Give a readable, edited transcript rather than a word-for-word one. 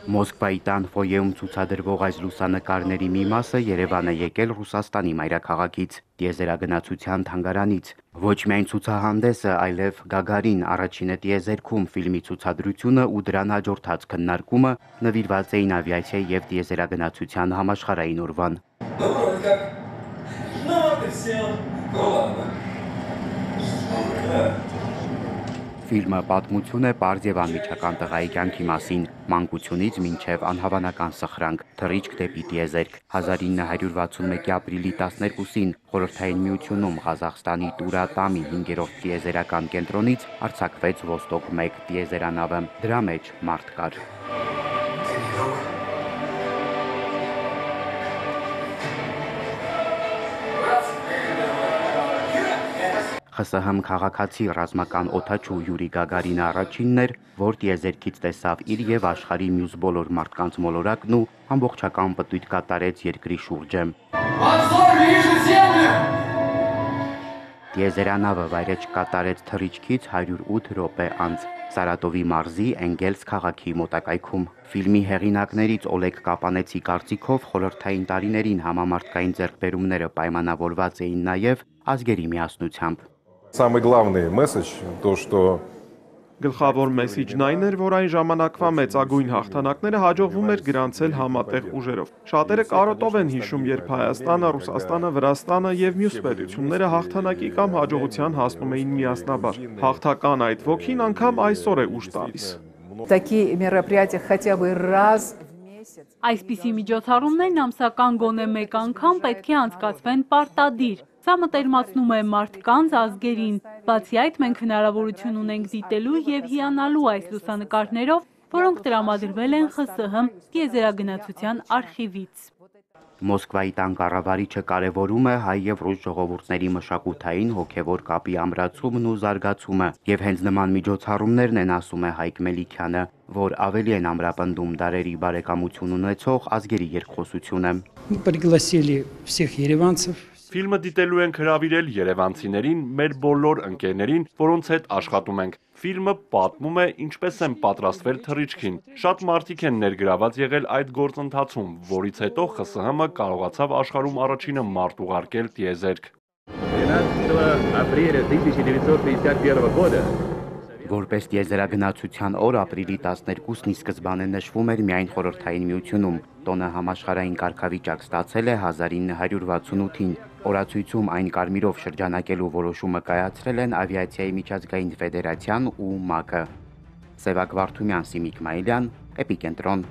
Մոսկվայի տան ֆոյեում ցուցադրվող այս լուսանկարների մի մասը Երևան է եկել Ռուսաստանի մայրաքաղաքից, տիեզերագնացության թանգարանից։ Ոչ միայն ցուցահանդեսը, այլև Գագարին առաջինը տիեզերքում ֆիլմի ցուցադրությունը ու դրան հաջորդած քննարկումը նվիրված էին ավիացիայի և տիեզերագնացության համաշխարհային օրվան։ Ֆիլմը պատմություն է պարզ և անմիջական տղայի կյանքի մասին, մանկությունից մինչև անհավանական սխրանք, թռիչք դեպի տիեզերք։ 1961-ի ապրիլի 12-ին Խորհրդային Միությունում Ղազախստանի Տուր-Ատամի 5-րդ տիեզերական կենտրոնից արձակվեց Ոստոկ 1 տիեզերանավը։ Դրա մեջ մարդ կար։ ԽՍՀՄ քաղաքացի ռազմական օդաչու Յուրի Գագարինը առաջինն էր, որ տիեզերքից տեսավ իր և աշխարհի մյուս բոլոր մարդկանց մոլորակն ու ամբողջական պտույտ կատարեց երկրի շուրջը։ Տիեզերանավը վայրէջք կատարեց թռիչքից 108 րոպե անց Սարատովի մարզի Էնգելս քաղաքի մոտակայքում։ Ֆիլմի հեղինակներից Օլեգ Կապանեցի կարծիքով խորհրդային տարիներին համամարտկային ձեռքբերումները պայմանավորված էին նաև ազգերի միասնությամբ։ Самый главный месседж то, что Գլխավոր մեսիջն այն էր, որ այն ժամանակվա մեծագույն հաղթանակները հաջողվում էր գրանցել համատեղ ուժերով։ Շատերը կարոտով են հիշում, երբ Հայաստանը, Ռուսաստանը, Վրաստանը եւ մյուս պետությունները հաղթանակի կամ հաջողության հասնում էին միասնաբար։ Հաղթական այդ ոգին անգամ այսօր է ուժ տալիս։ Такие мероприятия хотя бы раз в месяц. Այսպիսի միջոցառումներն ամսական գոնե մեկ անգամ պետք է անցկացվեն պարտադիր։ Սա մտերմացնում է մարդկանց, ազգերին։ Բացի այդ, մենք հնարավորություն ունենք դիտելու եւ հիանալու այս լուսանկարներով, որոնք տրամադրվել են ԽՍՀՄ տիեզերագնացության արխիվից։ Մոսկվայի տան կառավարիչը կարևորում է հայ և ռուս ժողովուրդների մշակութային հոգևոր կապի ամրացումն ու զարգացումը, եւ հենց նման միջոցառումներն են, ասում է Հայկ Մելիքյանը, որ ավելի են ամրապնդում դարերի բարեկամություն ունեցող ազգերի երկխոսությունը։ Пригласили всех երևանցев. Ֆիլմը դիտելու ենք հրավիրել երևանցիներին, մեր բոլոր ընկերներին, որոնց հետ աշխատում ենք։ Ֆիլմը պատմում է ինչպես են պատրաստվել թռիչքին։ Շատ մարդիկ են ներգրաված եղել այդ գործընթացում, որից հետո ԽՍՀՄ կարողացավ աշխարհում առաջինը մարդ ուղարկել տիեզերք։ 12 апреля 1951 года Որպես տիեզերագնացության օր ապրիլի 12-ն ի սկզբանե նշվում էր միայն Խորհրդային Միությունում, տոնը համաշխարհային կարգավիճակ ստացել է 1968-ին։ Օրացույցում այն կարմիրով շրջանակելու որոշումը կայացրել են Ավիացիայի միջազգային ֆեդերացիան ու ՄԱԿ-ը։ Սևակ Վարդումյան, Սիմիկ Մայիլյան, Էպիկենտրոն։